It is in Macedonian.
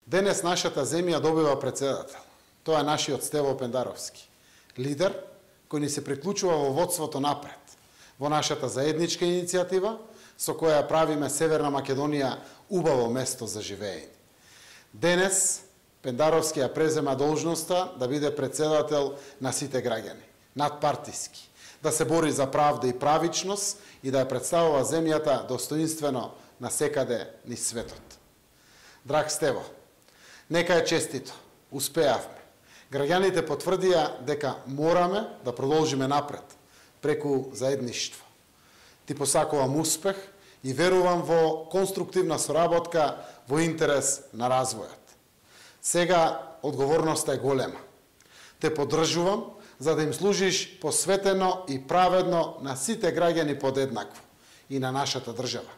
Денес нашата земја добива председател. Тоа е нашиот Стево Пендаровски. Лидер кој ни се приклучува во водството напред, во нашата заедничка иницијатива, со која правиме Северна Македонија убаво место за живење. Денес Пендаровски ја презема должноста да биде председател на сите граѓани, надпартиски, да се бори за правда и правичност и да ја представува земјата достоинствено на секаде низ светот. Драг Стево, нека е честито, успеавме. Граѓаните потврдија дека мораме да продолжиме напред, преку заедништво. Ти посакувам успех и верувам во конструктивна соработка во интерес на развојот. Сега одговорноста е голема. Те поддржувам за да им служиш посветено и праведно на сите граѓани подеднакво и на нашата држава.